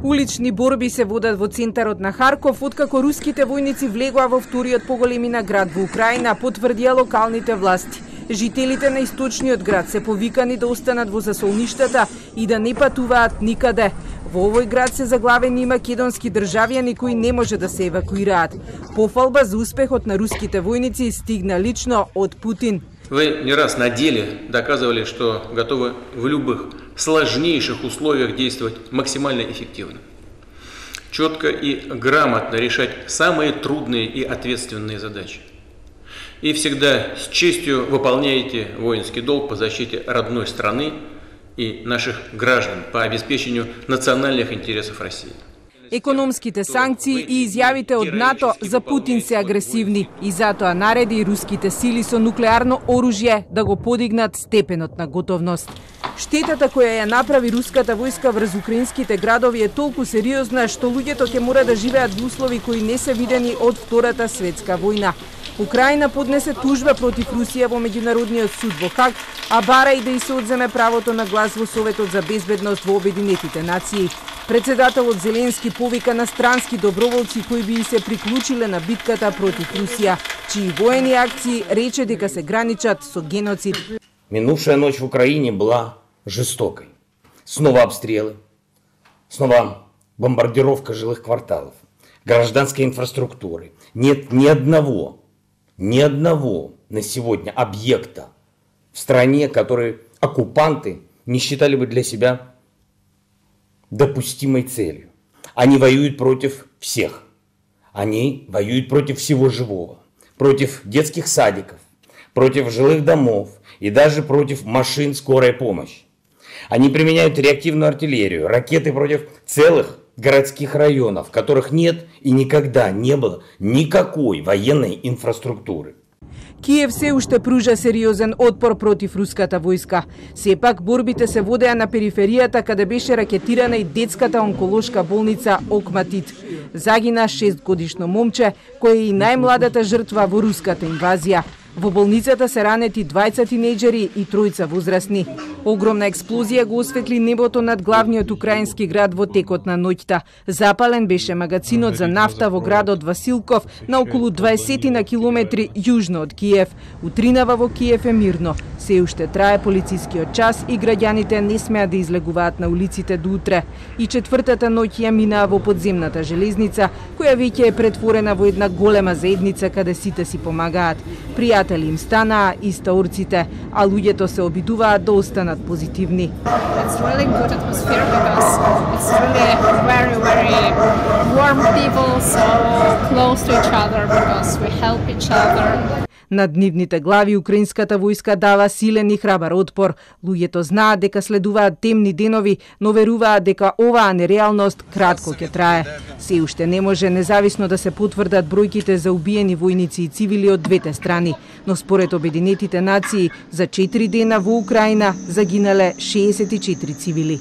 Улични борби се водат во центарот на Харков, откако руските војници влегоа во вториот поголемина град во Украина, потврдија локалните власти. Жителите на источниот град се повикани да останат во засолништата и да не патуваат никаде. Во овој град се заглавени и македонски државјани кои не може да се евакуираат. Пофалба за успехот на руските војници стигна лично од Путин. Вы не раз на деле доказывали, что готовы в любых сложнейших условиях действовать максимально эффективно. Четко и грамотно решать самые трудные и ответственные задачи. И всегда с честью выполняете воинский долг по защите родной страны и наших граждан по обеспечению национальных интересов России. Економските санкции и изјавите од НАТО за Путин се агресивни и затоа нареди руските сили со нуклеарно оружје да го подигнат степенот на готовност. Штетата која ја направи руската војска врз украинските градови е толку сериозна што луѓето ќе мора да живеат во услови кои не се видени од Втората светска војна. Украина поднесе тужба против Русија во меѓународниот суд во Хаг, а бара и да и се одземе правото на глас во Советот за безбедност во Обединетите нации. Председателот Зеленски повика на странски доброволци кои би се приклучиле на битката против Русија, чии воени акции рече дека се граничат со геноцид. Минувшая ночь в Украине была жестокой. Снова обстрелы, снова бомбардировка жилых кварталов, гражданской инфраструктуры. Нет ни одного на сегодня объекта в стране, который оккупанты не считали бы для себя допустимой целью. Они воюют против всех. Они воюют против всего живого. Против детских садиков, против жилых домов и даже против машин скорой помощи. Они применяют реактивную артиллерию, ракеты против целых городских районов, в которых нет и никогда не было никакой военной инфраструктуры. Киев се уште пружа сериозен отпор против руската војска. Сепак борбите се водеа на периферијата каде беше ракетирана и детската онколошка болница Окматит. Загина 6-годишно момче, кој е и најмладата жртва во руската инвазија. Во болницата се ранети 20 тинејџери и 3 возрастни. Огромна експлозија го осветли небото над главниот украински град во текот на ноќта. Запален беше магазинот за нафта во градот Василков на околу 20 на километри јужно од Киев. Утринава во Киев е мирно. Се уште трае полицискиот час и граѓаните не смеат да излегуваат на улиците до утре. И четвртата ноќ ја минаа во подземната железница, која веќе е претворена во една голема заедница каде сите си помагаат. Пријатели им станаа истаорците, а луѓето се обидуваат да останат позитивни. It's really good atmosphere because it's really very warm people, so close to each other because we help each other. Над нивните глави украинската војска дава силен и храбар отпор. Луѓето знаат дека следуваат темни денови, но веруваат дека оваа нереалност кратко ќе трае. Се уште не може независно да се потврдат бројките за убиени војници и цивили од двете страни, но според Обединетите нации за 4 дена во Украина загинале 64 цивили.